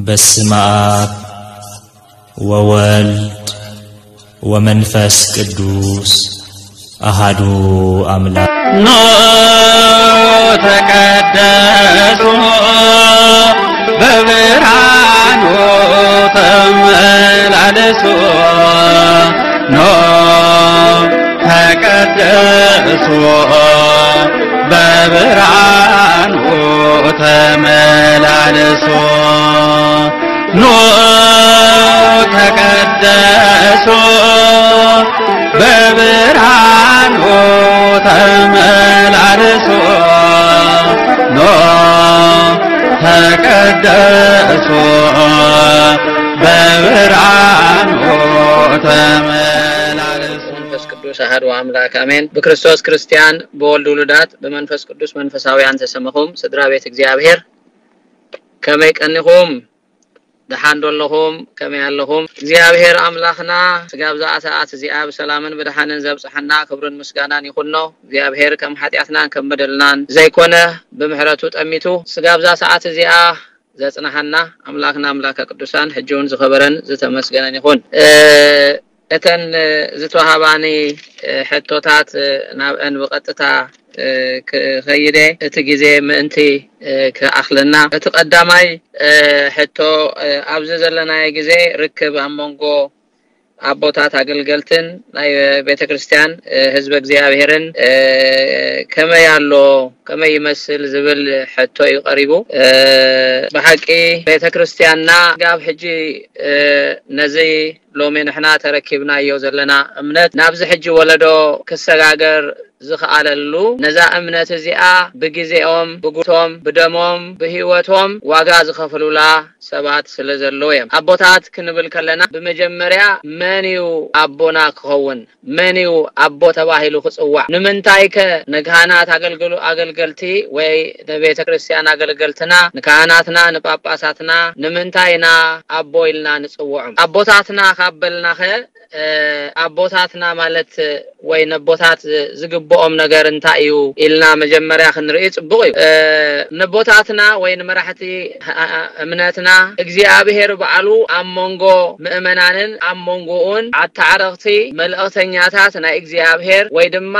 በስመ አብ ወወልድ ወመንፈስ ቅዱስ አሃዱ አምላክ። ኖ ተቀደሱ በብርሃኑ ተመላለሱ። ኖ ተቀደሱ በብርሃኑ ተመላለሱ። ኖ ተቀደሱ በብርሃኑ ተመላለሱ። ኖ ተቀደሱ በብርሃኑ ተመላለሱ። መንፈስ ቅዱስ አሐዱ አምላክ አሜን። ብክርስቶስ ክርስቲያን፣ ብወልድ ውሉዳት፣ ብመንፈስ ቅዱስ መንፈሳውያን ተሰመኹም ስድራ ቤት እግዚኣብሔር፣ ከመይ ቀኒኹም? ደሓን ዶ ኣለኹም? ከመይ ኣለኹም? እግዚኣብሔር ኣምላኽና ስጋብ እዛ ሰዓት እዚኣ ብሰላምን ብደሓንን ዘብጽሐና ክብርን ምስጋናን ይኹኖ። እግዚኣብሔር ከም ሓጢኣትናን ከም በደልናን ዘይኮነ፣ ብምሕረቱ ጠሚቱ ስጋብ እዛ ሰዓት እዚኣ ዘጽንሓና ኣምላኽና ኣምላከ ቅዱሳን ሕጂ እውን ዝኸበረን ዝተመስገነን ይኹን። እ፣ እተን ዝተዋሃባኒ ሕቶታት ናብአን ብቐጥታ ክኸይደ እቲ ግዜ ምእንቲ ክኣኽለና፣ እቲ ቀዳማይ ሕቶ፣ ኣብዚ ዘለናዮ ግዜ ርክብ ኣብ መንጎ ኣቦታት ኣገልገልትን ናይ ቤተ ክርስቲያን ህዝበ እግዚኣብሔርን ከመይ ኣሎ፣ ከመይ ይመስል ዝብል ሕቶ እዩ ቀሪቡ። ብሓቂ ቤተ ክርስቲያንና ጋብ ሕጂ ነዚ ሎሚ ንሕና ተረኪብናዮ ዘለና እምነት ናብዚ ሕጂ ወለዶ ክሰጋገር ዝኸኣለሉ፣ ነዛ እምነት እዚኣ ብግዜኦም፣ ብጉልበቶም፣ ብደሞም፣ ብህይወቶም ዋጋ ዝኸፍሉላ ሰባት ስለ ዘለዉ እዮም። ኣቦታት ክንብል ከለና ብመጀመርያ መን እዩ ኣቦና ክኸውን? መን እዩ ኣቦ ተባሂሉ ክጽዋዕ? ንምንታይ ከ ንካህናት ኣገልግሉ-፣ ኣገልገልቲ ወይ ንቤተ ክርስቲያን ኣገልገልትና፣ ንካህናትና፣ ንጳጳሳትና ንምንታይ ኢና ኣቦ ኢልና ንጽውዖም? ኣቦታትና ካብ በልናኸ፣ እ፣ ኣቦታትና ማለት ወይ ነቦታት ዝግብኦም ነገር እንታይ እዩ ኢልና መጀመርያ ክንርኢ ጽቡቕ እዩ። እ፣ ነቦታትና ወይ ንመራሕቲ እ-፣ እ-፣ እምነትና እግዚኣብሔር ባዕሉ ኣብ መንጎ ምእመናንን ኣብ መንጎኡን ኣተዓረቕቲ መልእኽተኛታት ናይ እግዚኣብሔር ወይ ድማ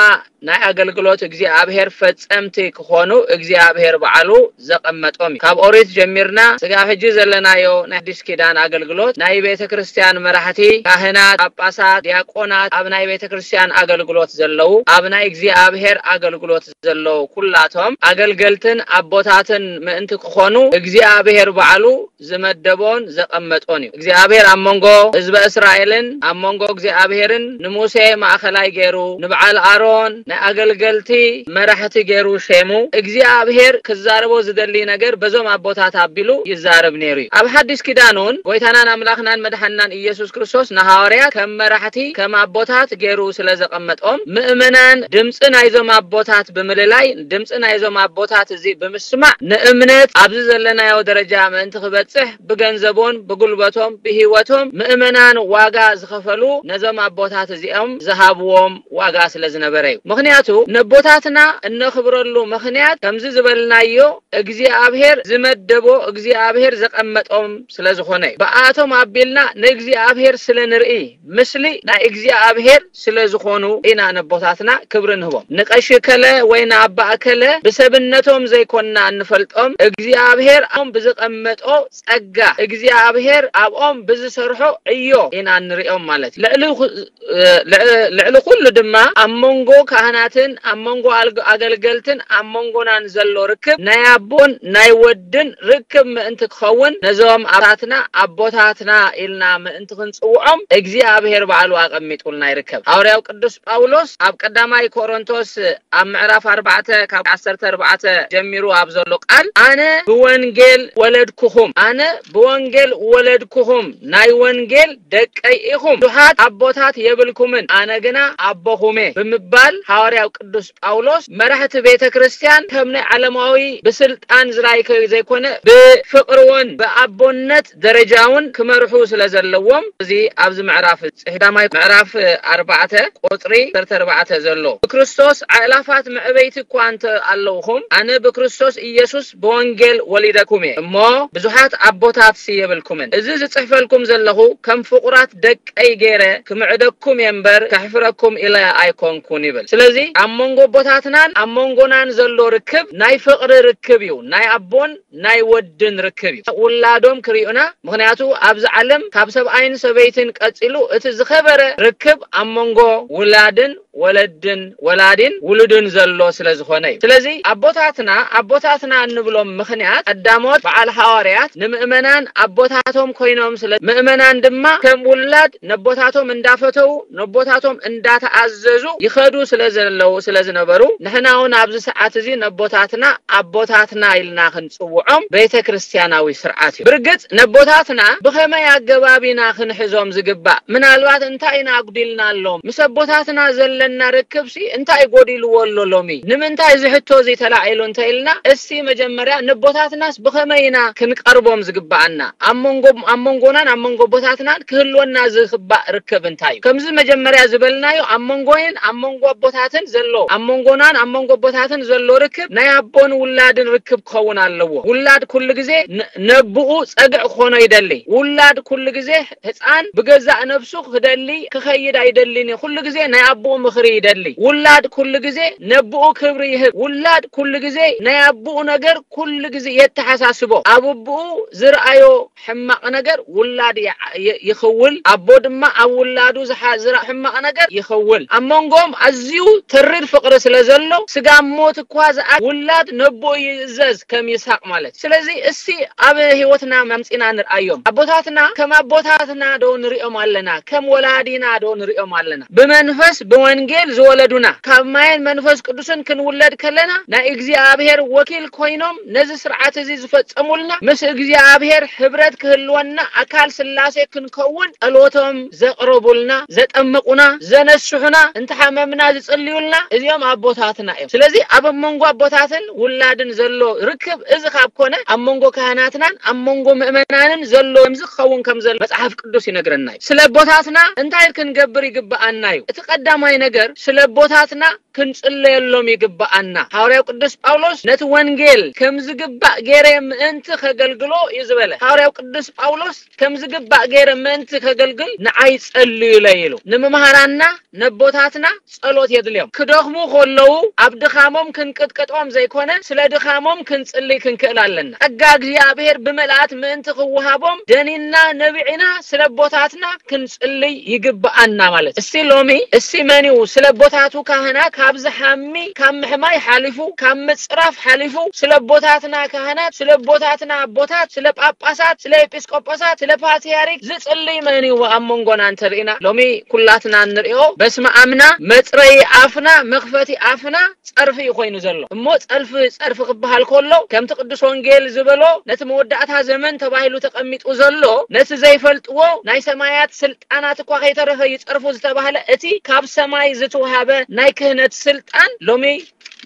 ናይ ኣገልግሎት እግዚኣብሔር ፈጸምቲ ክኾኑ እግዚኣብሔር ባዕሉ ዘቐመጦም እዩ። ካብ ኦሪት ጀሚርና ስጋብ ሕጂ ዘለናዮ ናይ ኣዲስ ኪዳን ኣገልግሎት ናይ ቤተ ክርስቲያን መራሕቲ፣ ካህናት፣ ጳጳሳት፣ ዲያቆናት፣ ኣብ ናይ ቤተ ክርስቲያን ኣገልግሎት ዘለዉ፣ ኣብ ናይ እግዚኣብሔር ኣገልግሎት ዘለዉ ኩላቶም ኣገልገልትን ኣቦታትን ምእንቲ ክኾኑ እግዚኣብሔር ባዕሉ ዝመደቦን ዘቐመጦን እዩ። እግዚኣብሔር ኣብ መንጎ ህዝበ እስራኤልን ኣብ መንጎ እግዚኣብሔርን ንሙሴ ማእኸላይ ገይሩ፣ ንበዓል ኣሮን ናይ ኣገልገልቲ መራሕቲ ገይሩ ሼሙ። እግዚኣብሔር ክዛረቦ ዝደሊ ነገር በዞም ኣቦታት ኣቢሉ ይዛረብ ነይሩ እዩ። ኣብ ሓዲስ ኪዳን እውን ጎይታናን ኣምላኽናን መድሓንናን ኢየሱስ ክርስቶስ ንሃዋርያት ከም መራሕቲ፣ ከም ኣቦታት ገይሩ ስለ ዘቐመጦም፣ ምእመናን ድምፂ ናይዞም ኣቦታት ብምልላይ፣ ድምፂ ናይዞም ኣቦታት እዚ ብምስማዕ፣ ንእምነት ኣብዚ ዘለናዮ ደረጃ ምእንቲ ክበጽሕ ብገንዘቦን ብጉልበቶም ብህይወቶም ምእመናን ዋጋ ዝኸፈሉ ነዞም ኣቦታት እዚኦም ዝሃብዎም ዋጋ ስለ ዝነበረ እዩ። ምኽንያቱ ነቦታትና እነኽብረሉ ምኽንያት ከምዚ ዝበልናዮ እግዚኣብሔር ዝመደቦ እግዚኣብሔር ዘቐመጦም ስለ ዝኾነ እዩ። ብኣቶም ኣቢልና ንእግዚኣብሔር ስለ ንርኢ፣ ምስሊ ናይ እግዚኣብሔር ስለ ዝኾኑ ኢና ነቦታትና ክብሪ ንህቦም። ንቀሺ ከለ ወይ ንኣባ እከለ ብሰብነቶም ዘይኮንና እንፈልጦም፣ እግዚኣብሔር ኣብኦም ብዝቐመጦ ጸጋ፣ እግዚኣብሔር ኣብኦም ብዝሰርሖ ዕዮ ኢና እንሪኦም ማለት እዩ። ልዕሊ ኹ-፣ እ፣ ልዕ-፣ ልዕሊ ኩሉ ድማ ኣብ መንጎ ካህናትን ኣብ መንጎ ኣልግ-፣ ኣገልገልትን ኣብ መንጎናን ዘሎ ርክብ ናይ ኣቦን ናይ ወድን ርክብ ምእንቲ ክኸውን ነዞም ኣባታትና ኣቦታትና ኢልና ምእንቲ ክንጽውዖም እግዚኣብሔር ባዕሉ ኣቐሚጡልና ይርከብ። ሃዋርያው ቅዱስ ጳውሎስ ኣብ ቀዳማይ ቆሮንቶስ ኣብ ምዕራፍ ኣርባዕተ ካብ ዓሰርተ ኣርባዕተ ጀሚሩ ኣብ ዘሎ ቃል፣ ኣነ ብወንጌል ወለድኩኹም፣ ኣነ ብወንጌል ወለድኩኹም፣ ናይ ወንጌል ደቀይ ኢኹም፣ ብዙሓት ኣቦታት የብልኩምን፣ ኣነ ግና ኣቦኹም እየ ብምባል ሃዋርያው ቅዱስ ጳውሎስ መራሕቲ ቤተ ክርስቲያን ከም ናይ ዓለማዊ ብስልጣን ዝራይ ከ-፣ ዘይኮነ ብፍቕሪ እውን ብኣቦነት ደረጃ እውን ክመርሑ ስለ ዘለዎም እዚ ኣብዚ ምዕራፍ ጽሕዳማይ ምዕራፍ ኣርባዕተ ቁጽሪ ዓሰርተ ኣርባዕተ ዘሎ፣ ብክርስቶስ ኣእላፋት መዕበይቲ እኳ እንተ ኣለውኹም፣ ኣነ ብክርስቶስ ኢየሱስ ብወንጌል ወሊደኩም እየ እሞ፣ ብዙሓት ኣቦታት የብልኩምን። እዚ ዝጽሕፈልኩም ዘለኹ ከም ፍቑራት ደቀይ ገይረ ክምዕደኩም እየ እምበር፣ ከሕፍረኩም ኢለ ኣይኮንኩን ይብል። ስለዚ ኣብ መንጎ ኣቦታትናን ኣብ መንጎናን ዘሎ ርክብ ናይ ፍቕሪ ርክብ እዩ። ናይ ኣቦን ናይ ወድን ርክብ እዩ። ውላዶም ክርእዩና፣ ምኽንያቱ ኣብዚ ዓለም ካብ ሰብኣይን ሰበይትን ቀጺሉ እቲ ዝኸበረ ርክብ ኣብ መንጎ ውላድን ወለድን፣ ወላዲን ውሉድን ዘሎ ስለ ዝኾነ እዩ። ስለዚ ኣቦታትና፣ ኣቦታትና እንብሎም ምኽንያት ቀዳሞት በዓል ሃዋርያት ንምእመናን ኣቦታቶም ኮይኖም ስለ፣ ምእመናን ድማ ከም ውላድ ነቦታቶም እንዳፈተው፣ ነቦታቶም እንዳተኣዘዙ ይኸዱ ስለ ዘለዉ፣ ስለ ዝነበሩ፣ ንሕና እውን ኣብዚ ሰዓት እዚ ነቦታትና ኣቦታትና ኢልና ክንጽውዖም ቤተ ክርስቲያናዊ ስርዓት እዩ። ብርግጽ ነቦታትና ብኸመይ ኣገባብ ኢና ክንሕዞም ዝግባእ? ምናልባት እንታይ ኢና ኣጉዲልናሎም? ምስ ኣቦታትና ዘለና ርክብሲ እንታይ ጎዲልዎ ኣሎ ሎሚ? ንምንታይ እዚ ሕቶ እዚ ተላዒሉ እንተ ኢልና፣ እስቲ መጀመርያ ነቦታትናስ ብኸመይ ኢና ክንቀርቦም ዝግባኣና? ኣብ መንጎ፣ ኣብ መንጎናን ኣብ መንጎ ኣቦታትናን ክህልወና ዝግባእ ርክብ እንታይ እዩ? ከምዚ መጀመርያ ዝበልናዮ፣ ኣብ መንጎይን ኣብ መንጎ ኣቦታትን ዘሎ፣ ኣብ መንጎናን ኣብ መንጎ ኣቦታትን ዘሎ ርክብ ናይ ኣቦን ውላድን ርክብ ክኸውን ኣለዎ። ውላድ ኩሉ ግዜ ን-፣ ነብኡ ጸግዕ ክኾኖ ይደሊ። ውላድ ኩሉ ግዜ ህፃን ብገዛእ ነብሱ ክደሊ ክኸይድ ኣይደልን እዩ። ኩሉ ግዜ ናይ ኣቦኡ ምኽሪ ይደሊ። ውላድ ኩሉ ግዜ ነብኡ ክብሪ ይህብ። ውላድ ኩሉ ግዜ ናይ ኣቦኡ ነገር ኩሉ ግዜ የተሓሳስቦ። ኣብ ኣቦኡ ዝረኣዮ ሕማቕ ነገር ውላድ ይዓ-፣ ይ-፣ ይኽውል። ኣቦ ድማ ኣብ ውላዱ ዝሓ-፣ ዝረኣ ሕማቕ ነገር ይኽውል። ኣብ መንጎም ኣዝዩ ተሪር ፍቕሪ ስለ ዘሎ፣ ስጋ ሞት እኳ ዝኣ-፣ ውላድ ነቦኡ ይእዘዝ ከም ይስሐቅ ማለት። ስለዚ እስቲ ኣብ ህይወትና መምጺና ንርኣዮም። ኣቦታትና ከም ኣቦታትና ዶ ንሪኦም ኣለና? ከም ወላዲና ዶ ንሪኦም ኣለና? ብመንፈስ ብወንጌል ዝወለዱና፣ ካብ ማየን መንፈስ ቅዱስን ክንውለድ ከለና ናይ እግዚኣብሔር ወኪል ኮይኖም ነዚ ስርዓት እዚ ዝፈጸሙልና፣ ምስ እግዚኣብሔር ሕብረት ክህልወና፣ ኣካል ስላሴ ክንከውን ጸሎቶም ዘቕረቡልና፣ ዘጠመቁና፣ ዘነስሑና፣ እንተሓመምና ዝጽልዩልና፣ እዚኦም ኣቦታትና እዮም። ስለዚ ኣብ መንጎ ኣቦታትን ውላድን ዘሎ ርክብ እዚ ካብ ኮነ፣ ኣብ መንጎ ካህናትናን ኣብ መንጎ ምእመናንን ዘሎ ከምዚ ክኸውን ከም ዘሎ መጽሓፍ ቅዱስ ይነግረና እዩ። ስለ ኣቦታትና እንታይ ክንገብር ይግብኣና እዩ? እቲ ቀዳማይ ነገር ስለ ኣቦታትና ክንጽለየሎም ይግብኣና። ሃዋርያው ቅዱስ ጳውሎስ ነቲ ወንጌል ከም ዝግባእ ገይረ ምእንቲ ከገልግሎ እዩ ዝበለ። ሃዋርያው ቅዱስ ጳውሎስ ከም ዝግባእ ገይረ ምእንቲ ከገልግል ንዓይ ጸልዩለይ ኢሉ። ንምምሃራና ነቦታትና ጸሎት የድልዮም። ክደኽሙ ከለዉ ኣብ ድኻሞም ክንቅጥቀጦም ዘይኮነ፣ ስለ ድኻሞም ክንጽልይ ክንክእል ኣለና። ጸጋ እግዚኣብሔር ብመልኣት ምእንቲ ክወሃቦም ደኒና ነቢዕና ስለ ኣቦታትና ክንጽልይ ይግብኣና ማለት። እስቲ ሎሚ፣ እስቲ መን እዩ ስለ ኣቦታቱ ካህናት ካብ ዝሓሚ፣ ካብ ምሕማይ ሓሊፉ፣ ካብ ምጽራፍ ሓሊፉ፣ ስለ ኣቦታትና ካህናት፣ ስለ ኣቦታትና ኣቦታት፣ ስለ ጳጳሳት፣ ስለ ኤጲስቆጶሳት፣ ስለ ፓትርያርክ ዝጽልይ መን እዩ ኣብ መንጎና እንተርኢና? ሎሚ ኩላትና እንርእዮ በስመ ኣምና መጽረዪ ኣፍና መኽፈቲ ኣፍና ጸርፊ እዩ ኮይኑ ዘሎ። እሞ ጸልፊ፣ ጸርፊ ክበሃል ከሎ ከምቲ ቅዱስ ወንጌል ዝበሎ ነቲ መወዳእታ ዘመን ተባሂሉ ተቐሚጡ ዘሎ ነቲ ዘይፈልጥዎ ናይ ሰማያት ስልጣናት እኳ ከይተረፈ ይጸርፉ ዝተባህለ እቲ ካብ ሰማይ ዝተዋሃበ ናይ ክህነት ስልጣን ሎሚ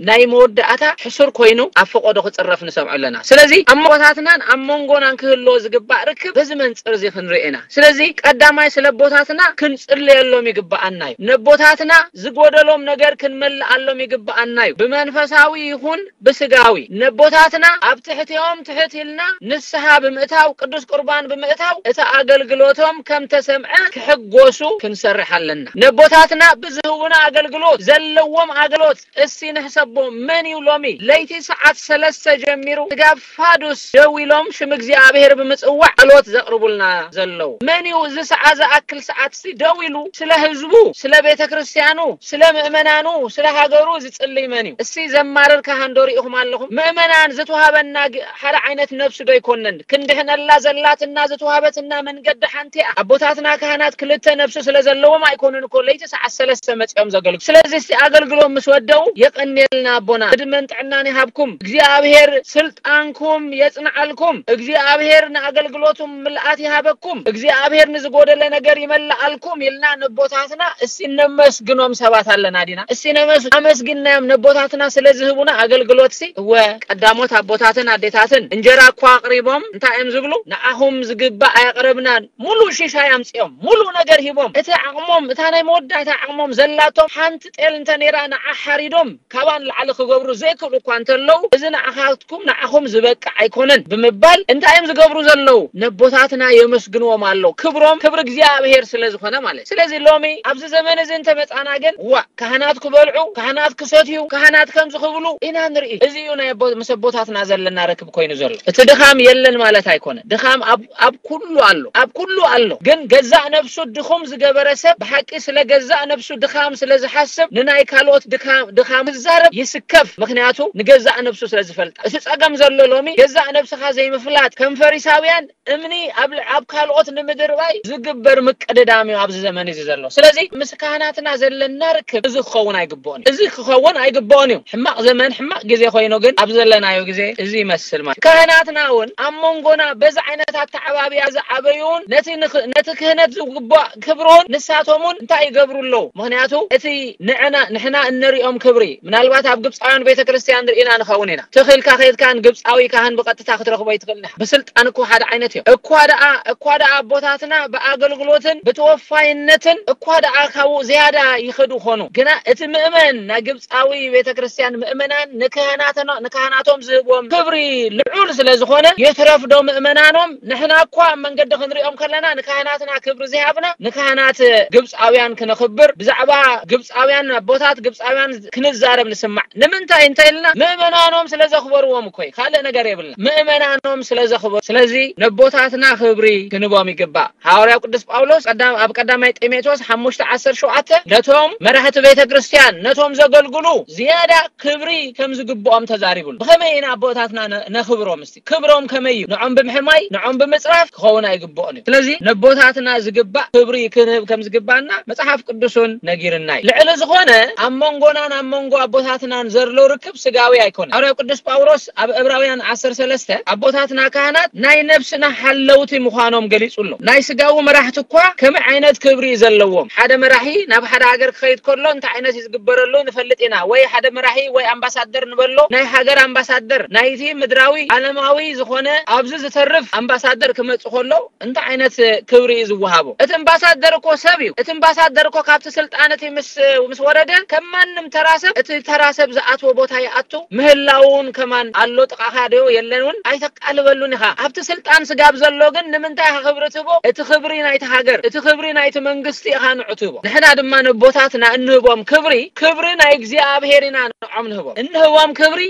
ናይ መወዳእታ ሕሱር ኮይኑ ኣብ ፈቆዶ ክጽረፍ ንሰምዖ ኣለና። ስለዚ ኣብ መንጎታትናን ኣብ መንጎናን ክህልዎ ዝግባእ ርክብ በዚ መንጽር እዚ ክንርኢ ኢና። ስለዚ ቀዳማይ ስለ ኣቦታትና ክንጽለየሎም ይግብኣና እዩ። ነቦታትና ዝጎደሎም ነገር ክንመልኣሎም ይግብኣና እዩ። ብመንፈሳዊ ይኹን ብስጋዊ ነቦታትና ኣብ ትሕቲኦም ትሕት ኢልና ንስሓ ብምእታው ቅዱስ ቁርባን ብምእታው እቲ ኣገልግሎቶም ከም ተሰምዐ ክሕጎሱ ክንሰርሕ ኣለና። ነቦታትና ብዝህቡና ኣገልግሎት ዘለዎም ኣገልግሎት እስቲ ንሕሰቦ። መን እዩ ሎሚ ለይቲ ሰዓት ሰለስተ ጀሚሩ ስጋብ ፋዱስ ደው ኢሎም ሽም እግዚኣብሔር ብምጽዋዕ ጸሎት ዘቕርቡልና ዘለዉ? መን እዩ እዚ ሰዓ ዝኣክል ሰዓት እስቲ ደው ኢሉ ስለ ህዝቡ፣ ስለ ቤተ ክርስቲያኑ፣ ስለ ምእመናኑ፣ ስለ ሃገሩ ዝጽልይ መን እዩ? እስቲ ዘማርር ካህን ዶ ርኢኹም ኣለኹም? ምእመናን ዝተዋሃበና ግ-፣ ሓደ ዓይነት ነፍሲ ዶ ይኮነን? ክንድሕነላ ዘላትና ዝተዋሃበትና መንገዲ ሓንቲ እያ። ኣቦታትና ካህናት ክልተ ነፍሲ ስለ ዘለዎም ኣይኮኑን እኮ ለይቲ ሰዓት ሰለስተ መጺኦም ዘገልግሉ። ስለዚ እስቲ ኣገልግሎም ምስ ወደው የቐንየ ይስጥልና ኣቦና፣ ዕድመን ጥዕናን ይሃብኩም። እግዚኣብሔር ስልጣንኩም የጽንዓልኩም። እግዚኣብሔር ንኣገልግሎቱም ምልኣት ይሃበኩም። እግዚኣብሔር ንዝጎደለ ነገር ይመልኣልኩም ኢልና ነቦታትና እሲ ነመስግኖም ሰባት ኣለና ዲና? እሲ ነመስ-፣ ኣመስግናዮም ነቦታትና ስለ ዝህቡና ኣገልግሎት ሲ። እወ፣ ቀዳሞት ኣቦታትን ኣዴታትን እንጀራ እኳ ኣቕሪቦም እንታይ እዮም ዝብሉ? ንዓኹም ዝግባእ ኣየቕረብናን። ሙሉ ሽሻይ ኣምጺኦም፣ ሙሉ ነገር ሂቦም። እቲ ዓቕሞም፣ እታ ናይ መወዳእታ ዓቕሞም ዘላቶም ሓንቲ ጤል እንተ ነይራ ንዓ ሓሪዶም ካባን ላዕሊ ክገብሩ ዘይክእሉ እኳ እንተለዉ፣ እዚ ንዓኻትኩም፣ ንዓኹም ዝበቅዕ ኣይኮነን ብምባል እንታይ እዮም ዝገብሩ ዘለዉ? ነቦታትና የመስግንዎም ኣለዉ። ክብሮም ክብሪ እግዚኣብሔር ስለ ዝኾነ ማለት። ስለዚ ሎሚ ኣብዚ ዘመን እዚ እንተመጻና ግን፣ ዋእ፣ ካህናት ክበልዑ፣ ካህናት ክሰትዩ፣ ካህናት ከምዚ ክብሉ ኢና ንርኢ። እዚ እዩ ናይ ኣቦ-፣ ምስ ኣቦታትና ዘለና ርክብ ኮይኑ ዘሎ። እቲ ድኻም የለን ማለት ኣይኮነን። ድኻም ኣብ፣ ኣብ ኩሉ ኣሎ፣ ኣብ ኩሉ ኣሎ። ግን ገዛእ ነብሱ ድኹም ዝገበረ ሰብ ብሓቂ ስለ ገዛእ ነብሱ ድኻም ስለ ዝሓስብ ንናይ ካልኦት ድኻም፣ ድኻም ክዛረብ ይስከፍ። ምኽንያቱ ንገዛእ ነብሱ ስለ ዝፈልጣ። እቲ ጸገም ዘሎ ሎሚ ገዛእ ነብስኻ ዘይምፍላጥ፣ ከም ፈሪሳውያን እምኒ ኣብ ል-፣ ኣብ ካልኦት ንምድርባይ ዝግበር ምቅድዳም እዩ ኣብዚ ዘመን እዚ ዘሎ። ስለዚ ምስ ካህናትና ዘለና ርክብ እዚ ክኸውን ኣይግብኦን እዩ። እዚ ክኸውን ኣይግብኦን እዩ። ሕማቕ ዘመን፣ ሕማቕ ግዜ ኮይኑ ግን ኣብ ዘለናዮ ግዜ እዚ ይመስል ማለት እዩ። ካህናትና እውን ኣብ መንጎና በዚ ዓይነት ኣተዓባብያ ዝዓበዩ እውን ነቲ ንኽ-፣ ነቲ ክህነት ዝግባእ ክብሪ እውን ንሳቶም እውን እንታይ ይገብሩ ኣለዉ? ምኽንያቱ እቲ ንዕና፣ ንሕና እንሪኦም ክብሪ ምናልባት ኣብ ግብፃውያን ቤተ ክርስቲያን ርኢና ንኸውን ኢና። ትኽልካ ከይድካ ንግብፃዊ ካህን ብቐጥታ ክትረኽቦ ይትኽእል ኢኻ። ብስልጣን እኮ ሓደ ዓይነት እዮም። እኳ ደኣ፣ እኳ ደኣ ኣቦታትና ብኣገልግሎትን ብተወፋይነትን እኳ ደኣ ካብኡ ዝያዳ ይኸዱ ኾኑ። ግና እቲ ምእመን ናይ ግብፃዊ ቤተ ክርስቲያን ምእመናን ንካህናተኖ-፣ ንካህናቶም ዝህብዎም ክብሪ ልዑል ስለ ዝኾነ የትረፍ ዶ ምእመናኖም? ንሕና እኳ ኣብ መንገዲ ክንሪኦም ከለና ንካህናትና ክብሪ ዘይሃብና ንካህናት ግብፃውያን ክነኽብር ብዛዕባ ግብፃውያን ኣቦታት ግብፃውያን ክንዛረብ ንስማዕ። ንምንታይ እንተ ኢልና ምእመናኖም ስለ ዘኽበርዎም እኮ እዩ። ካልእ ነገር የብልና። ምእመናኖም ስለ ዘኽበሩ። ስለዚ ነቦታትና ክብሪ ክንቦም ይግባእ። ሃዋርያው ቅዱስ ጳውሎስ ቀዳም-፣ ኣብ ቀዳማይ ጢሞቴዎስ ሓሙሽተ ዓሰርተ ሸውዓተ ነቶም መራሕቲ ቤተ ክርስቲያን፣ ነቶም ዘገልግሉ ዝያዳ ክብሪ ከም ዝግብኦም ተዛሪቡሉ። ብኸመይ ኢና ኣቦታትና ነ-፣ ነኽብሮም? እስቲ ክብሮም ከመይ እዩ? ንዖም ብምሕማይ፣ ንዖም ብምጽራፍ ክኸውን ኣይግብኦን እዩ። ስለዚ ነቦታትና ዝግባእ ክብሪ ክንህብ ከም ዝግባና መጽሓፍ ቅዱስ እውን ነጊርና እዩ። ልዕሊ ዝኾነ ኣብ መንጎናን ኣብ መንጎ ኣቦታትናን ዘሎ ርክብ ስጋዊ ኣይኮነን። ሃዋርያው ቅዱስ ጳውሎስ ኣብ ዕብራውያን ዓሰርተ ሰለስተ ኣቦታትና ካህናት ናይ ነብስና ሓለውቲ ምዃኖም ገሊጹ ኣሎ። ናይ ስጋዊ መራሕቲ እኳ ከመይ ዓይነት ክብሪ እዩ ዘለዎም? ሓደ መራሒ ናብ ሓደ ሃገር ክኸይድ ከሎ እንታይ ዓይነት እዩ ዝግበረሉ ንፈልጥ ኢና። ወይ ሓደ መራሒ ወይ ኣምባሳደር ንበሎ፣ ናይ ሃገር ኣምባሳደር፣ ናይቲ ምድራዊ ዓለማዊ ዝኾነ ኣብዚ ዝተርፍ ኣምባሳደር ክመጽእ ከሎ እንታይ ዓይነት ክብሪ እዩ ዝወሃቦ? እቲ ኣምባሳደር እኮ ሰብ እዩ። እቲ ኣምባሳደር እኮ ካብቲ ስልጣን እቲ ምስ፣ ምስ ወረደ ከም ማንም ተራ ሰብ እቲ ተራ ሰብ ዝኣትዎ ቦታ ይኣቱ። ምህላው እውን ከማን ኣሎ፣ ጥቓኻ ዶ የለን እውን ኣይተቃልበሉን ኢኻ። ኣብቲ ስልጣን ስጋብ ዘሎ ግን ንምንታይ ኢኻ ክብሪ ትህቦ? እቲ ክብሪ ናይቲ ሃገር፣ እቲ ክብሪ ናይቲ መንግስቲ ኢኻ ንዑ ትህቦ። ንሕና ድማ ነቦታትና እንህቦም ክብሪ፣ ክብሪ ናይ እግዚኣብሔር ኢና ንዖም ንህቦም። እንህቦም ክብሪ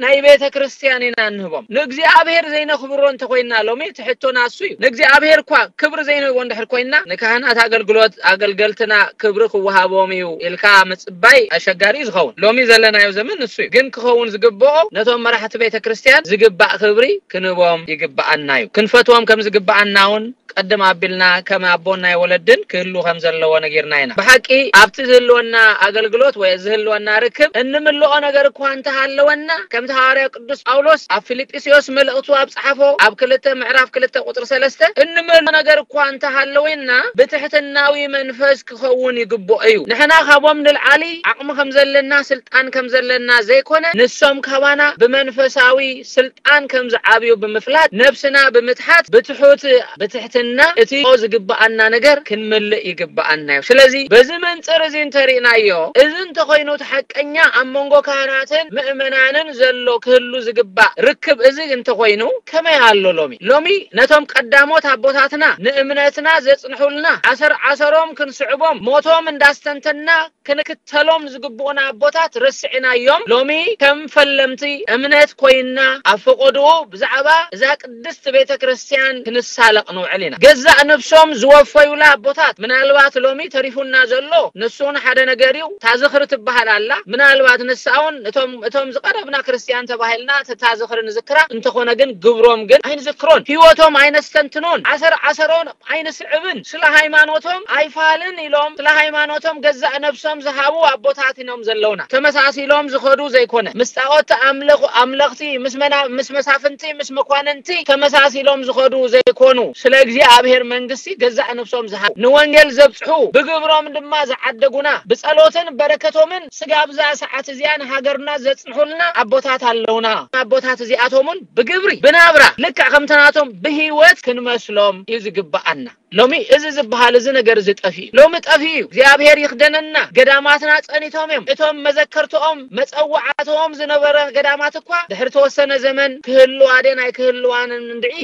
ናይ ቤተ ክርስቲያን ኢና እንህቦም። ንእግዚኣብሔር ዘይነኽብሮ እንተኾይንና ሎሚ እቲ ሕቶና እሱ እዩ። ንእግዚኣብሔር እኳ ክብሪ ዘይንህቦ እንድሕር ኮይንና ንካህናት ኣገልግሎት ኣገልገልትና ክብሪ ክወሃቦም እዩ ኢልካ ምጽባይ ኣሸጋሪ እዩ ዝኸውን። ሎሚ ዘለናዮ ዘመን ንሱ እዩ። ግን ክኸውን ዝግብኦ ነቶም መራሕቲ ቤተ ክርስቲያን ዝግባእ ክብሪ ክንህቦም ይግብኣና እዩ። ክንፈትዎም ከም ዝግብኣና እውን ቀድም ኣቢልና ከም ኣቦን ናይ ወለድን ክህሉ ከም ዘለዎ ነጊርና ኢና። ብሓቂ ኣብቲ ዝህልወና ኣገልግሎት ወይ ዝህልወና ርክብ እንምልኦ ነገር እኳ እንተሃለወና ከምቲ ሃዋርያ ቅዱስ ጳውሎስ ኣብ ፊልጵስዮስ መልእኽቱ ኣብ ጸሓፎ ኣብ ክልተ ምዕራፍ ክልተ ቁጽሪ ሰለስተ እንምልኦ ነገር እኳ እንተሃለወና ብትሕትናዊ መንፈስ ክኸውን ይግብኦ እዩ። ንሕና ካብኦም ንልዓሊ ዓቕሚ ከም ዘለና ስልጣን ከም ዘለና ዘይኮነ ንሶም ካባና ብመንፈሳዊ ስልጣን ከም ዝዓብዩ ብምፍላጥ ነብስና ብምትሓት ብትሑት ብትሕትና እቲ ዝግብኣና ነገር ክንምልእ ይግብኣና እዩ። ስለዚ በዚ መንጽር እዚ እንተሪእናዮ እዚ እንተኾይኑ እቲ ሓቀኛ ኣብ መንጎ ካህናትን ምእመናንን ዘሎ ክህሉ ዝግባእ ርክብ እዚ እንተኾይኑ ከመይ ኣሎ ሎሚ? ሎሚ ነቶም ቀዳሞት ኣቦታትና ንእምነትና ዘጽንሑልና ዓሰር ዓሰሮም ክንስዕቦም ሞቶም እንዳስተንተና ክንክተሎም ዝግብኡና ኣቦታት ረሲዕናዮም። ሎሚ ከም ፈለምቲ እምነት ኮይንና ኣብ ፈቐድኡ ብዛዕባ እዛ ቅድስቲ ቤተ ክርስቲያን ክንሳለቕ ንውዕል ኢና። ገዛእ ነብሶም ዝወፈዩላ ኣቦታት ምናልባት ሎሚ ተሪፉና ዘሎ ንሱ እውን ሓደ ነገር እዩ። እታ ዝኽሪ ትበሃል ኣላ። ምናልባት ንሳ እውን እቶም፣ እቶም ዝቐረብና ክርስቲያን ተባሂልና እታ ዝኽሪ ንዝክራ እንተኾነ ግን ግብሮም ግን ኣይንዝክሮን። ህይወቶም ኣይነስተንትኖን። ዓሰር ዓሰሮም ኣይንስዕብን። ስለ ሃይማኖቶም ኣይፋልን ኢሎም ስለ ሃይማኖቶም ገዛእ ነብሶም ዝሃቡ ኣቦታት ኢኖም ዘለውና። ተመሳሳሊ ተመሳሲሎም ዝኸዱ ዘይኮነ፣ ምስ ጣዖት ኣምለኹ ኣምለኽቲ፣ ምስ መና-፣ ምስ መሳፍንቲ፣ ምስ መኳንንቲ ተመሳሲሎም ዝኸዱ ዘይኮኑ፣ ስለ እግዚኣብሔር መንግስቲ ገዛእ ነፍሶም ዝሃቡ፣ ንወንጌል ዘብጽሑ፣ ብግብሮም ድማ ዝዓደጉና፣ ብጸሎትን በረከቶምን ስጋብ እዛ ሰዓት እዚኣ ንሃገርና ዘጽንሑልና ኣቦታት ኣለውና። ኣቦታት እዚኣቶም እውን ብግብሪ፣ ብናብራ፣ ልክዕ ከምቲ ናቶም ብህይወት ክንመስሎም እዩ ዝግብኣና። ሎሚ እዚ ዝበሃል እዚ ነገር እዚ ጠፊኡ፣ ሎሚ ጠፊኡ እዩ። እግዚኣብሔር ይኽደነና። ገዳማትና ጸኒቶም እዮም። እቶም መዘከርትኦም መጸዋዕትኦም ዝነበረ ገዳማት እኳ ድሕሪ ተወሰነ ዘመን ክህልዋ ድየን ኣይክህልዋን እንድዒ፣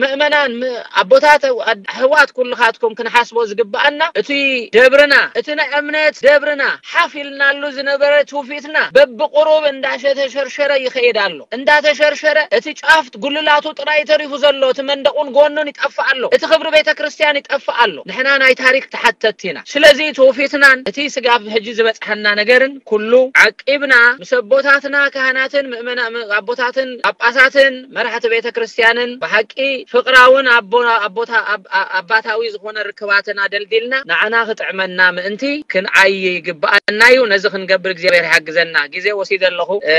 ምእመናን፣ ም-፣ ኣቦታት፣ ኣድ-፣ ኣሕዋት ኩልኻትኩም ክንሓስቦ ዝግብኣና፣ እቲ ደብርና፣ እቲ ናይ እምነት ደብርና፣ ሓፍ ኢልናሉ ዝነበረ ትውፊትና በብቁሩብ እንዳሸተሸርሸረ ይኸይድ ኣሎ። እንዳተሸርሸረ እቲ ጫፍ ጉልላቱ ጥራይ ተሪፉ ዘሎ፣ እቲ መንደቑን ጎኑን ይጠፍእ ኣሎ። እቲ ክብሪ ቤተ ክርስቲያን ይጠፍእ ኣሎ። ንሕና ናይ ታሪክ ተሓተትቲ ኢና። ስለዚ ትውፊትናን እቲ ስጋብ ሕጂ ዝበጽሐና ነገርን ኩሉ ዓቂብና ምስ ኣቦታትና ካህናትን ምእመና-፣ ም-፣ ኣቦታትን ጳጳሳትን መራሕቲ ቤተ ክርስቲያንን ብሓቂ ፍቕራውን ኣቦ-፣ ኣቦታ-፣ ኣብ-፣ ኣ-፣ ኣባታዊ ዝኾነ ርክባትን ኣደልዲልና ንዓና ክጥዕመና ምእንቲ ክንዓይ ይግብኣና እዩ። ነዚ ክንገብር እግዚኣብሔር ይሓግዘና። ግዜ ወሲደ ኣለኹ። እ፣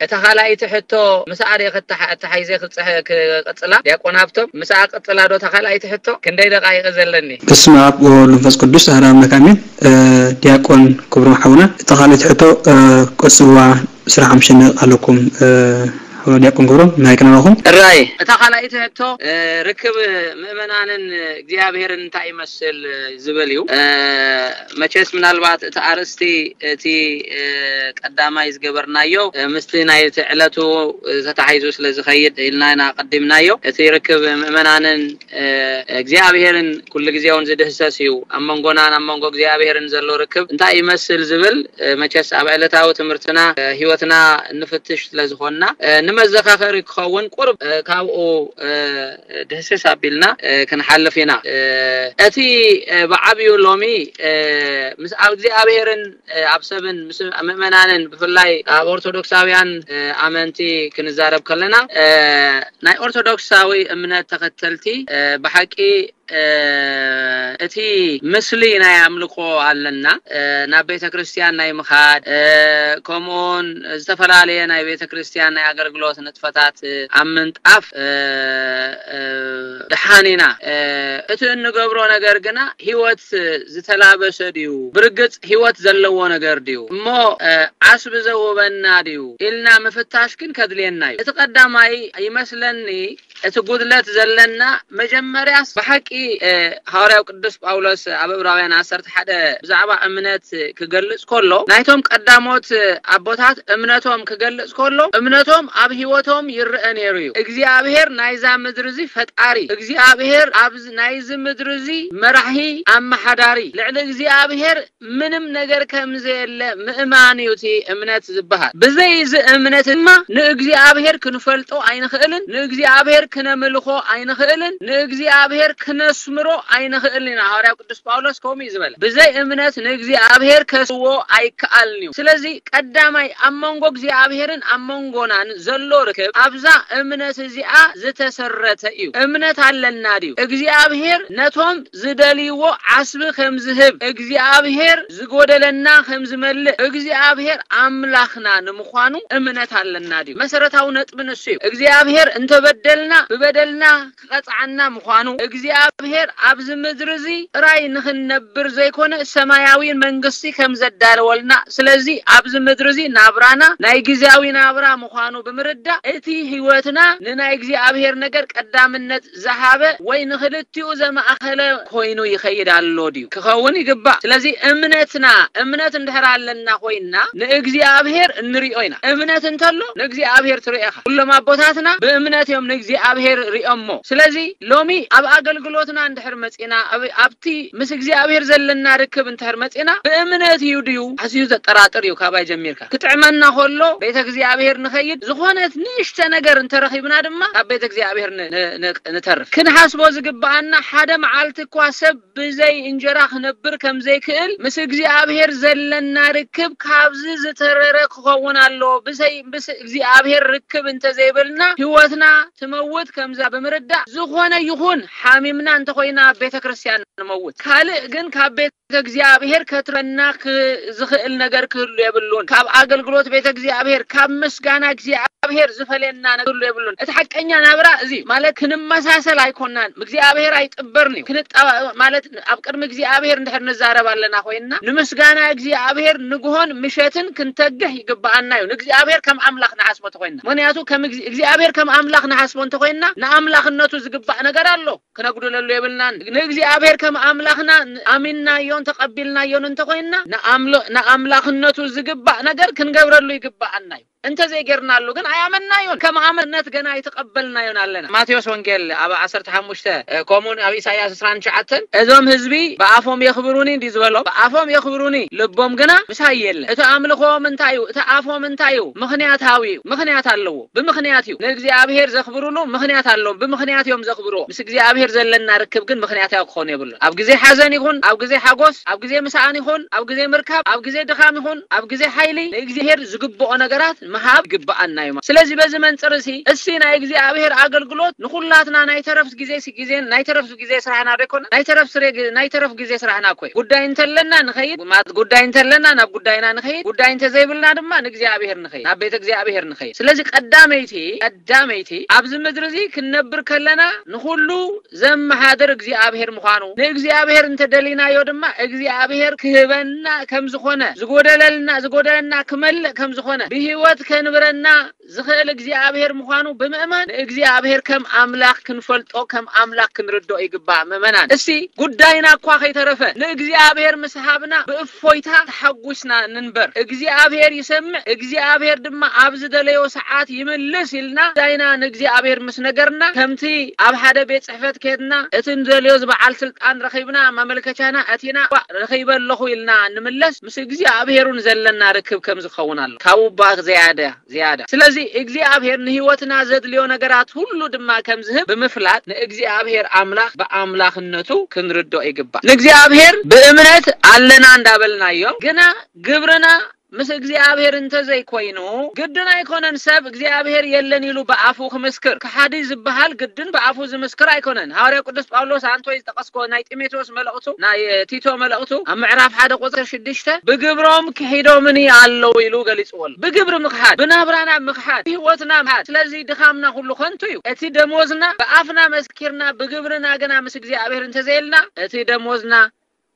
እታ ካልኣይቲ ሕቶ ምስኣ ደ ከተሓ-፣ ኣተሓይዘ ክጽሐ-፣ ክቕጽላ? ዲያቆን ሃብቶም፣ ምስኣ ቅጽላ ዶ እታ ካልኣይቲ ሕቶ? ክንደይ ደቓይቕ ዘለኒ? በስመ ኣብ ወወልድ ወመንፈስ ቅዱስ ኣሐዱ ኣምላክ ኣሜን። እ፣ ዲያቆን ክብሮም ሓውና፣ እታ ካልኣይቲ ሕቶ፣ እ፣ ቀጽልዋ፣ ስራሕ ኣምሽነ ኣለኩም። እ፣ ዲያቆን ክብሮም፣ ማይክ ናባኹም። እራይ፣ እታ ካልኣይቲ ሕቶ፣ እ፣ ርክብ ምእመናንን እግዚኣብሔርን እንታይ ይመስል ዝብል እዩ። እ፣ መቸስ ምናልባት እቲ ኣርእስቲ እቲ፣ እ፣ ቀዳማይ ዝገበርናዮ፣ እ፣ ምስቲ ናይቲ ዕለቱ፣ እ፣ ተታሒዙ ስለ ዝኸይድ ኢልና ኢና ቀዲምናዮ። እቲ ርክብ ምእመናንን፣ እ፣ እግዚኣብሔርን ኩሉ ግዜ እውን ዝድህሰስ እዩ። ኣብ መንጎናን ኣብ መንጎ እግዚኣብሔርን ዘሎ ርክብ እንታይ ይመስል ዝብል፣ እ፣ መቸስ ኣብ ዕለታዊ ትምህርትና፣ እ፣ ህይወትና እንፍትሽ ስለ ዝኾንና፣ እ፣ ንመዘኻኸሪ ክኸውን ቁርብ፣ እ፣ ካብኡ፣ እ፣ ድህስስ ኣቢልና፣ እ፣ ክንሓልፍ ኢና። እ፣ እቲ፣ እ፣ ብዓብዩ ሎሚ፣ እ፣ ምስ ኣብ እግዚኣብሔርን፣ እ፣ ኣብ ሰብን ምስ ምእመናንን ብፍላይ ኣብ ኦርቶዶክሳውያን፣ እ፣ ኣመንቲ ክንዛረብ ከለና፣ እ፣ ናይ ኦርቶዶክሳዊ እምነት ተኸተልቲ፣ እ፣ ብሓቂ፣ እ፣ እቲ ምስሊ ናይ ኣምልኾ ኣለና። እ፣ ናብ ቤተ ክርስቲያን ናይ ምኻድ፣ እ፣ ከምኡውን ዝተፈላለየ ናይ ቤተ ክርስቲያን ናይ ኣገልግሎት ንጥፈታት፣ እ፣ ኣብ ምንጣፍ፣ እ፣ እ፣ ደሓን ኢና። እ፣ እቲ እንገብሮ ነገር ግና ህይወት ዝተላበሰ ድዩ? ብርግጽ ህይወት ዘለዎ ነገር ድዩ? እሞ፣ እ፣ ዓስቢ ዘውበና ድዩ? ኢልና ምፍታሽ ግን ከድልየና እዩ። እቲ ቀዳማይ ይመስለኒ እቲ ጉድለት ዘለና መጀመርያስ ብሓቂ፣ እ፣ ሃዋርያው ቅዱስ ጳውሎስ ኣብ ዕብራውያን ዓሰርተ ሓደ ብዛዕባ እምነት ክገልጽ ከሎ፣ ናይቶም ቀዳሞት ኣቦታት እምነቶም ክገልጽ ከሎ፣ እምነቶም ኣብ ህይወቶም ይረአ ነይሩ እዩ። እግዚኣብሔር ናይዛ ምድሪ እዚ ፈጣሪ፣ እግዚኣብሔር ኣብዚ ናይዚ ምድሪ እዚ መራሒ፣ ኣመሓዳሪ፣ ልዕሊ እግዚኣብሔር ምንም ነገር ከም ዘየለ ምእማን እዩ እቲ እምነት ዝበሃል። ብዘይ እዚ እምነት ድማ ንእግዚኣብሔር ክንፈልጦ ኣይንኽእልን፣ ንእግዚኣብሔር ክነምልኾ ኣይንኽእልን፣ ንእግዚኣብሔር ክነስምሮ ኣይንኽእልን ኢና። ሃዋርያው ቅዱስ ጳውሎስ ከምኡ እዩ ዝበለ። ብዘይ እምነት ንእግዚኣብሔር ከስዎ ኣይከኣልን እዩ። ስለዚ ቀዳማይ ኣብ መንጎ እግዚኣብሔርን ኣብ መንጎናን ዘሎ ርክብ ኣብዛ እምነት እዚኣ ዝተሰረተ እዩ። እምነት ኣለና ድዩ? እግዚኣብሔር ነቶም ዝደልይዎ ዓስቢ ከም ዝህብ፣ እግዚኣብሔር ዝጎደለና ከም ዝመልእ፣ እግዚኣብሔር ኣምላኽና ንምዃኑ እምነት ኣለና ድዩ? መሰረታዊ ነጥቢ ንሱ እዩ። እግዚኣብሔር እንተበደልና፣ ብበደልና ክቐጽዓና ምዃኑ፣ እግዚኣብሔር ኣብዚ ምድሪ እዚ ጥራይ ንኽንነብር ዘይኮነ ሰማያዊ መንግስቲ ከም ዘዳለወልና፣ ስለዚ ኣብዚ ምድሪ እዚ ናብራና ናይ ግዜያዊ ናብራ ምዃኑ ብምርዳእ፣ እቲ ህይወትና ንናይ እግዚኣብሔር ነገር ቀዳምነት ዝሃበ ወይ ንኽልቲኡ ዘማእኸለ ኮይኑ ይኸይድ ኣሎ ድዩ? ክኸውን ይግባእ። ስለዚ እምነትና፣ እምነት እንድሕር ኣለና ኮይንና ንእግዚኣብሔር እንሪኦ ኢና። እምነት እንተሎ ንእግዚኣብሔር ትሪኦ ኢኻ። ኩሎም ኣቦታትና ብእምነት እዮም ንእግዚኣብሔር ሪኦሞ። ስለዚ ሎሚ ኣብ ኣገልግሎትና እንድሕር መጺና፣ ኣብ-፣ ኣብቲ ምስ እግዚኣብሔር ዘለና ርክብ እንድሕር መጺና፣ ብእምነት እዩ ድዩ? ኣዝዩ ዘጠራጥር እዩ ካባይ ጀሚርካ። ክጥዕመና ከሎ ቤተ እግዚኣብሔር ንኸይድ፣ ዝኾነት ንእሽተ ነገር እንተረኺብና ድማ ካብ ቤተ እግዚኣብሔር ን-፣ ን-፣ ን-፣ ንተርፍ። ክንሓስቦ ዝግብኣና፣ ሓደ መዓልቲ እኳ ሰብ ብዘይ እንጀራ ክነብር ከም ዘይክእል፣ ምስ እግዚኣብሔር ዘለና ርክብ ካብዚ ዝተረረ ክኸውን ኣለዎ። ብዘይ፣ ምስ እግዚኣብሔር ርክብ እንተዘይብልና፣ ህይወትና ትመውት ከምዛ ብምርዳእ፣ ዝኾነ ይኹን ሓሚምና እንተኾይና ኣብ ቤተ ክርስቲያን ንመውት። ካልእ ግን ካብ ቤት እግዚኣብሔር ከትረና ክ-፣ ዝኽእል ነገር ክህሉ የብሉን። ካብ ኣገልግሎት ቤተ እግዚኣብሔር፣ ካብ ምስጋና እግዚኣብሔር ዝፈልየና ነገር ክህሉ የብሉን። እቲ ሓቀኛ ናብራ እዚ ማለት ክንመሳሰል ኣይኮናን። እግዚኣብሔር ኣይጥበርን እዩ። ክንጣ-፣ ማለት ኣብ ቅድሚ እግዚኣብሔር እንድሕር ንዛረብ ኣለና ኮይንና፣ ንምስጋና እግዚኣብሔር ንግሆን ምሸትን ክንተግህ ይግብኣና እዩ። ንእግዚኣብሔር ከም ኣምላኽ ንሓስቦ እንተኮይንና። ምክንያቱ ከም እግዚ-፣ እግዚኣብሔር ከም ኣምላኽ ንሓስቦ እንተኮይንና፣ ንኣምላኽነቱ ዝግባእ ነገር ኣሎ። ክነጉድለሉ የብልናን። ንእግዚኣብሔር ከም ኣምላኽና ኣሚንናዮን ተቐቢልናዮን እንተኾይንና፣ ንኣምሎ-፣ ንኣምላኽነቱ ዝግባእ ነገር ክንገብረሉ ይግባኣና እዩ። እንተዘይጌርናሉ ግን ኣያመንናዮን፣ ከም ኣመነት ገና ኣይተቐበልናዮን ኣለና። ማቴዎስ ወንጌል ኣብ ዓሰርተ ሓሙሽተ፣ እ፣ ከምኡውን ኣብ ኢሳይያስ ዕስራን ትሽዓተን፣ "እዞም ህዝቢ ብኣፎም የኽብሩኒ" እንዲ ዝበሎም፣ ብኣፎም የኽብሩኒ፣ ልቦም ግና ምሳይ የለ። እቲ ኣምልኾም እንታይ እዩ? እቲ ኣፎም እንታይ እዩ? ምኽንያታዊ እዩ። ምኽንያት ኣለዎ። ብምኽንያት እዩ። ንእግዚኣብሔር ዘኽብሩሉ ምኽንያት ኣለዎም። ብምኽንያት እዮም ዘኽብርዎ። ምስ እግዚኣብሔር ዘለና ርክብ ግን ምኽንያታዊ ክኾን የብሉን። ኣብ ግዜ ሓዘን ይኹን፣ ኣብ ግዜ ሓጎስ፣ ኣብ ግዜ ምስኣን ይኹን፣ ኣብ ግዜ ምርካብ፣ ኣብ ግዜ ድኻም ይኹን፣ ኣብ ግዜ ሓይሊ ንእግዚኣብሔር ዝግብኦ ነገራት ምሃብ ይግብኣና እዩ። ስለዚ በዚ መንጽር እዚ፣ እሲ ናይ እግዚኣብሔር ኣገልግሎት ንኹላትና ናይ ተረፍ ግዜ ሲ-፣ ግዜ፣ ናይ ተረፍ ግዜ ስራሕና ዶ ይኮነ? ናይ ተረፍ ስሬ ግ-፣ ናይ ተረፍ ግዜ ስራሕና እኮ እዩ። ጉዳይ እንተለና ንኸይድ፣ ማት-፣ ጉዳይ እንተለና ናብ ጉዳይና ንኸይድ፣ ጉዳይ እንተዘይብልና ድማ ንእግዚኣብሔር ንኸይድ፣ ናብ ቤተ እግዚኣብሔር ንኸይድ። ስለዚ ቀዳመይቲ፣ ቀዳመይቲ ኣብዚ ምድሪ እዚ ክንነብር ከለና ንኹሉ ዘመሓድር እግዚኣብሔር ምዃኑ፣ ንእግዚኣብሔር እንተደሊናዮ ድማ እግዚኣብሔር ክህበና ከም ዝኾነ፣ ዝጎደለልና፣ ዝጎደለና ክመልእ ከም ዝኾነ፣ ብህይወት ከንብረና ዝኽእል እግዚኣብሔር ምዃኑ ብምእማን ንእግዚኣብሔር ከም ኣምላኽ ክንፈልጦ፣ ከም ኣምላኽ ክንርድኦ ይግባእ። ምእመናን፣ እስቲ ጉዳይና እኳ ከይተረፈ ንእግዚኣብሔር ምስ ሃብና ብእፎይታ ተሓጒስና ንንበር። እግዚኣብሔር ይሰምዕ፣ እግዚኣብሔር ድማ ኣብ ዝደለዮ ሰዓት ይምልስ ኢልና ጉዳይና ንእግዚኣብሔር ምስ ነገርና፣ ከምቲ ኣብ ሓደ ቤት ጽሕፈት ከድና እቲ ንደልዮ ዝበዓል ስልጣን ረኺብና፣ ማመልከቻና ኣቲና፣ "ዋ፣ ረኺበ ኣለኹ" ኢልና ንምለስ፣ ምስ እግዚኣብሔሩን ዘለና ርክብ ከም ዝኸውን ኣሎ። ካብኡ እባ ዝያዳ፣ ዝያዳ። ስለዚ እግዚኣብሔር ንህይወትና ዘድልዮ ነገራት ሁሉ ድማ ከም ዝህብ ብምፍላጥ፣ ንእግዚኣብሔር ኣምላኽ ብኣምላኽነቱ ክንርድኦ ይግባእ። ንእግዚኣብሔር ብእምነት ኣለና እንዳበልናዮ፣ ግና ግብርና ምስ እግዚኣብሔር እንተዘይኮይኑ፣ ግድን ኣይኮነን ሰብ እግዚኣብሔር የለን ኢሉ ብኣፉ ክምስክር። ከሓዲ ዝበሃል ግድን ብኣፉ ዝምስክር ኣይኮነን። ሃዋርያ ቅዱስ ጳውሎስ ኣንቶይ ዝጠቐስኮ ናይ ጢሞቴዎስ መልእኽቱ፣ ናይ ቲቶ መልእኽቱ ኣብ ምዕራፍ ሓደ ቁጽሪ ሽዱሽተ፣ "ብግብሮም ክሒዶምኒ ኣለዉ" ኢሉ ገሊጽዎ ኣሎ። ብግብሪ ምኽሓድ፣ ብናብራና ምኽሓድ፣ ብህይወትና ምኽሓድ። ስለዚ ድኻምና ኩሉ ከንቱ እዩ። እቲ ደሞዝና ብኣፍና መስኪርና፣ ብግብርና ግና ምስ እግዚኣብሔር እንተዘየልና፣ እቲ ደሞዝና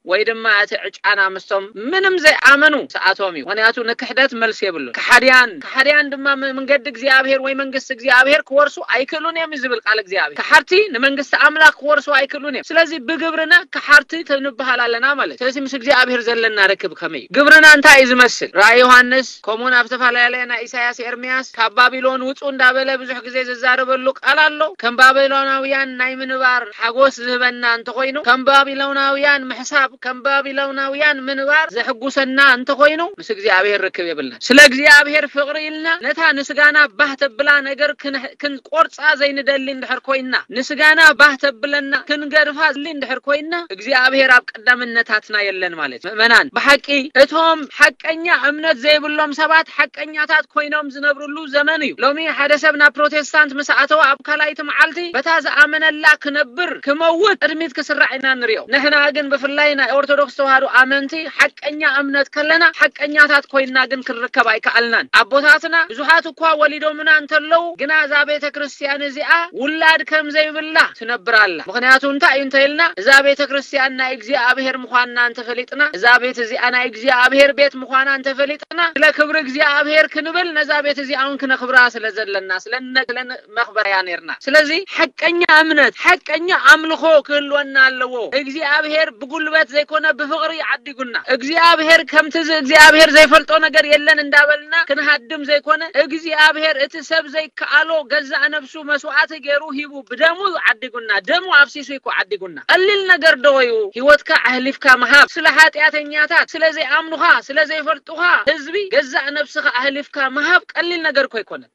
ወይ ድማ እቲ ዕጫና ምስቶም ምንም ዘይኣመኑ ሰኣቶም እዩ። ምኽንያቱ ንክሕደት መልሲ የብሉን። ከሓድያን፣ ከሓድያን ድማ ም-፣ መንገዲ እግዚኣብሔር ወይ መንግስቲ እግዚኣብሔር ክወርሱ ኣይክእሉን እዮም እዩ ዝብል ቃል እግዚኣብሔር። ከሓድቲ ንመንግስቲ ኣምላኽ ክወርሱ ኣይክእሉን እዮም። ስለዚ ብግብርና ከሓድቲ ንበሃል ኣለና ማለት እዩ። ስለዚ ምስ እግዚኣብሔር ዘለና ርክብ ከመይ እዩ? ግብርና እንታይ እዩ ዝመስል? ራእይ ዮሃንስ፣ ከምኡውን ኣብ ዝተፈላለየ ናይ ኢሳያስ፣ ኤርምያስ፣ "ካብ ባቢሎን ውጹ" እንዳበለ ብዙሕ ግዜ ዝዛረበሉ ቃል ኣሎ። ከም ባቢሎናውያን ናይ ምንባር ሓጎስ ዝህበና እንተኾይኑ፣ ከም ባቢሎናውያን ምሕሳብ፣ ከም ባቢሎናውያን ምንባር ዘሕጉሰና እንተኾይኑ፣ ምስ እግዚኣብሔር ርክብ የብልናን። ስለ እግዚኣብሔር ፍቕሪ ኢልና ነታ ንስጋና ባህ ተብላ ነገር ክን-፣ ክንቆርጻ ዘይንደሊ እንድሕር ኮይና፣ ንስጋና ባህ ተብለና ክንገድፋ ዝሊ እንድሕር ኮይና፣ እግዚኣብሔር ኣብ ቀዳምነታትና የለን ማለት እዩ። ምእመናን፣ ብሓቂ እቶም ሓቀኛ እምነት ዘይብሎም ሰባት ሓቀኛታት ኮይኖም ዝነብርሉ ዘመን እዩ። ሎሚ ሓደ ሰብ ናብ ፕሮቴስታንት ምስ ኣተወ፣ ኣብ ካልኣይቲ መዓልቲ በታ ዝኣመነላ ክነብር፣ ክመውት ቅድሚት ክስራዕ ኢና ንሪኦ። ንሕና ግን ብፍላይ ናይ ኦርቶዶክስ ተዋህዶ ኣመንቲ ሓቀኛ እምነት ከለና ሓቀኛታት ኮይንና ግን ክንርከብ ኣይከኣልናን። ኣቦታትና ብዙሓት እኳ ወሊዶምና እንተለዉ፣ ግና እዛ ቤተ ክርስቲያን እዚኣ ውላድ ከም ዘይብላ ትነብር ኣላ። ምኽንያቱ እንታይ እዩ እንተኢልና፣ እዛ ቤተ ክርስቲያን ናይ እግዚኣብሔር ምዃንና እንተፈሊጥና፣ እዛ ቤት እዚኣ ናይ እግዚኣብሔር ቤት ምዃና እንተፈሊጥና፣ ስለ ክብሪ እግዚኣብሔር ክንብል ነዛ ቤት እዚኣ እውን ክነኽብራ ስለ ዘለና፣ ስለ ነ-፣ ስለ ነ-፣ መኽበርያ ነርና። ስለዚ ሓቀኛ እምነት፣ ሓቀኛ ኣምልኾ ክህልወና ኣለዎ። እግዚኣብሔር ብጉልበት ዘይኮነ ብፍቕሪ ዓዲጉና። እግዚኣብሔር ከምቲ ዝ-፣ እግዚኣብሔር ዘይፈልጦ ነገር የለን እንዳበልና ክንሃድም ዘይኮነ፣ እግዚኣብሔር እቲ ሰብ ዘይከኣሎ ገዛእ ነብሱ መስዋዕቲ ገይሩ ሂቡ ብደሙ ዓዲጉና። ደሙ ኣፍሲሱ እኮ ዓዲጉና። ቀሊል ነገር ዶ እዩ? ህይወትካ ኣህሊፍካ ምሃብ፣ ስለ ሓጢኣተኛታት፣ ስለ ዘይኣምኑኻ፣ ስለ ዘይፈልጡኻ ህዝቢ ገዛእ ነብስኻ ኣህሊፍካ ምሃብ ቀሊል ነገር እኮ ኣይኮነን።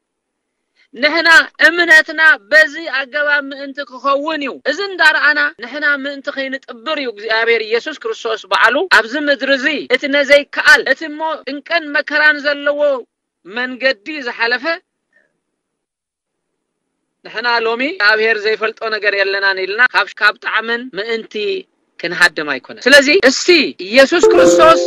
ንሕና እምነትና በዚ ኣገባብ ምእንቲ ክኸውን እዩ። እዚ እንዳረኣና ንሕና ምእንቲ ከይንጥብር እዩ እግዚኣብሔር ኢየሱስ ክርስቶስ ባዕሉ ኣብዚ ምድሪ እዚ እቲ ነዘይከኣል፣ እቲ እሞ ጭንቅን መከራን ዘለዎ መንገዲ ዝሓለፈ። ንሕና ሎሚ እግዚኣብሔር ዘይፈልጦ ነገር የለናን ኢልና ካብ፣ ካብ ጣዕምን ምእንቲ ክንሃድም ኣይኮነ። ስለዚ እስቲ ኢየሱስ ክርስቶስ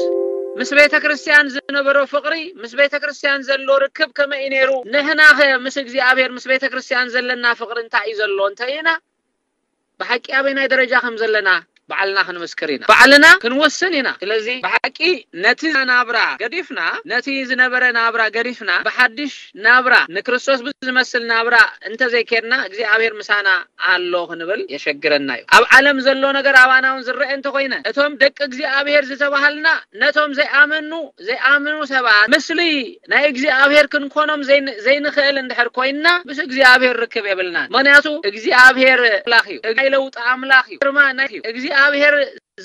ምስ ቤተ ክርስቲያን ዝነበሮ ፍቕሪ፣ ምስ ቤተ ክርስቲያን ዘሎ ርክብ ከመይ እዩ ነይሩ? ንሕናኸ ምስ እግዚኣብሔር፣ ምስ ቤተ ክርስቲያን ዘለና ፍቕሪ እንታይ እዩ ዘሎ እንተ ኢና፣ ብሓቂ ኣበይናይ ደረጃ ከም ዘለና ባዕልና ክንምስክር ኢና። ባዕልና ክንወስን ኢና። ስለዚ ብሓቂ ነቲ ናብራ ገዲፍና፣ ነቲ ዝነበረ ናብራ ገዲፍና፣ ብሓድሽ ናብራ፣ ንክርስቶስ ብዝመስል ናብራ እንተዘይኬድና፣ እግዚኣብሔር ምሳና ኣሎ ክንብል የሸግረና እዩ። ኣብ ዓለም ዘሎ ነገር ኣባና እውን ዝረአ እንተኾይነ፣ እቶም ደቂ እግዚኣብሔር ዝተባሃልና፣ ነቶም ዘይኣመኑ፣ ዘይኣምኑ ሰባት፣ ምስሊ ናይ እግዚኣብሔር ክንኮኖም ዘይን-፣ ዘይንኽእል እንድሕር ኮይንና፣ ምስ እግዚኣብሔር ርክብ የብልናን። ምኽንያቱ እግዚኣብሔር ኣምላኽ እዩ። ናይ ለውጢ ኣምላኽ እዩ። ግርማ ናይ እዩ። እግዚኣብሔር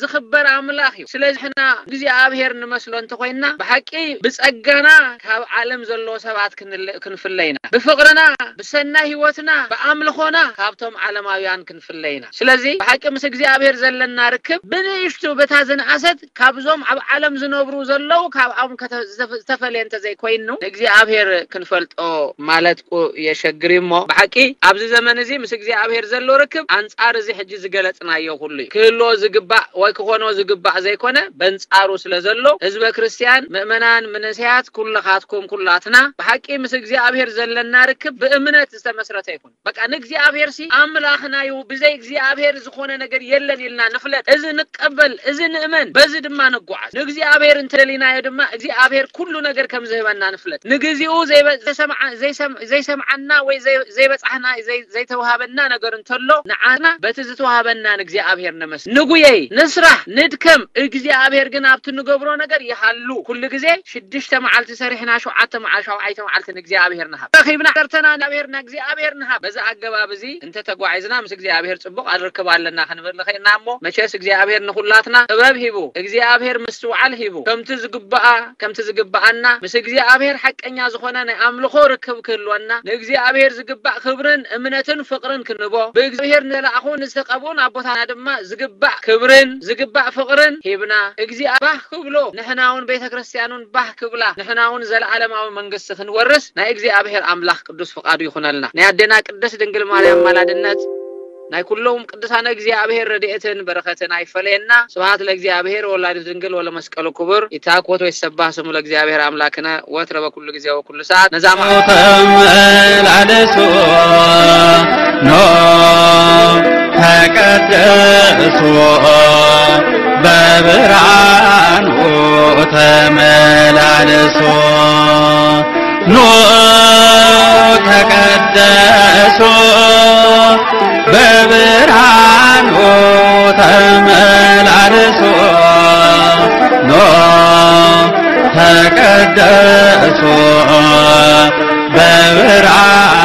ዝኽበር ኣምላኽ እዩ። ስለዚ ንሕና እግዚኣብሔር ንመስሎ እንተኾይንና፣ ብሓቂ ብጸጋና ካብ ዓለም ዘለዎ ሰባት ክንለ-፣ ክንፍለ ኢና። ብፍቕርና፣ ብሰናይ ህይወትና፣ ብኣምልኾና ካብቶም ዓለማውያን ክንፍለ ኢና። ስለዚ ብሓቂ ምስ እግዚኣብሔር ዘለና ርክብ ብንእሽቱ በታ ዝነኣሰት ካብዞም ኣብ ዓለም ዝነብሩ ዘለዉ ካብኦም ከተ-፣ ዝተፈ-፣ ዝተፈልየ እንተዘይኮይኑ፣ ንእግዚኣብሔር ክንፈልጦ ማለት ቁ-፣ የሸግር እዩ እሞ፣ ብሓቂ ኣብዚ ዘመን እዚ ምስ እግዚኣብሔር ዘሎ ርክብ ኣንጻር እዚ ሕጂ ዝገለጽናዮ ኩሉ እዩ። ክህልዎ ዝግባእ ወይ ክኾኖ ዝግባእ ዘይኮነ፣ በንጻሩ ስለ ዘሎ፣ ህዝበ ክርስቲያን፣ ምእመናን፣ መንእሰያት፣ ኩልኻትኩም፣ ኩላትና ብሓቂ ምስ እግዚኣብሔር ዘለና ርክብ ብእምነት ዝተመስረተ ይኹን። በቃ ንእግዚኣብሔር ሲ ኣምላኽና እዩ፣ ብዘይ እግዚኣብሔር ዝኾነ ነገር የለን ኢልና ንፍለጥ። እዚ ንቀበል፣ እዚ ንእመን፣ በዚ ድማ ንጓዓዝ። ንእግዚኣብሔር እንተደሊናዮ ድማ እግዚኣብሔር ኩሉ ነገር ከም ዝህበና ንፍለጥ። ንግዚኡ ዘይበ-፣ ዘይሰምዓ-፣ ዘይሰም-፣ ዘይሰምዓና ወይ ዘይ-፣ ዘይበጻሕና፣ ዘይ-፣ ዘይተዋሃበና ነገር እንተሎ ንዓና በቲ ዝተዋሃበና ንእግዚኣብሔር ነመስግን። ንጉየይ፣ ንስራሕ፣ ንድከም፣ እግዚኣብሔር ግን ኣብቲ ንገብሮ ነገር ይሃሉ። ኩሉ ግዜ ሽዱሽተ መዓልቲ ሰሪሕና ሸውዓተ መዓልቲ፣ ሸውዓይተ መዓልቲ ንእግዚኣብሔር ንሃብ። ረኺብና ዓሰርተና ንእግዚኣብሔር፣ ንእግዚኣብሔር ንሃብ። በዚ ኣገባብ እዚ እንተ ተጓዒዝና ምስ እግዚኣብሔር ጽቡቕ ኣርክብ ኣለና ክንብል ንኽእልና እሞ፣ መቸስ እግዚኣብሔር ንኹላትና ጥበብ ሂቡ፣ እግዚኣብሔር ምስትውዓል ሂቡ፣ ከምቲ ዝግባኣ፣ ከምቲ ዝግባኣና ምስ እግዚኣብሔር ሓቀኛ ዝኾነ ናይ ኣምልኾ ርክብ ክህልወና፣ ንእግዚኣብሔር ዝግባእ ክብርን እምነትን ፍቕርን ክንቦ፣ ብእግዚኣብሔር ንተላእኹ ንዝተቐብኡን ኣቦታትና ድማ ዝግባእ ክብርን ዝግባእ ፍቕርን ሂብና፣ እግዚኣብሔር ባህ ክብሎ፣ ንሕና እውን ቤተ ክርስቲያን እውን ባህ ክብላ፣ ንሕና እውን ዘለዓለማዊ መንግስቲ ክንወርስ ናይ እግዚኣብሔር ኣምላኽ ቅዱስ ፍቓዱ ይኹነልና። ናይ ኣዴና ቅድስት ድንግል ማርያም ኣማላድነት፣ ናይ ኩሎም ቅዱሳነ እግዚኣብሔር ረድኤትን በረኸትን ኣይፈለየና። ስብሐት ለእግዚኣብሔር ወወላዲቱ ድንግል ወለመስቀሉ ክቡር። ይትባረክ ወይትሰባህ ስሙ ለእግዚኣብሔር ኣምላክነ ወትረ በኩሉ ጊዜ ወኩሉ ሰዓት። ነዛ መዓልቲ ተመላለሱ ኖ ተቀደሱ በብርሃኑ ተመላለሱ ኖ ተቀደሱ በብርሃኑ ተመላለሱ ኖ ተቀደሱ በብርሃኑ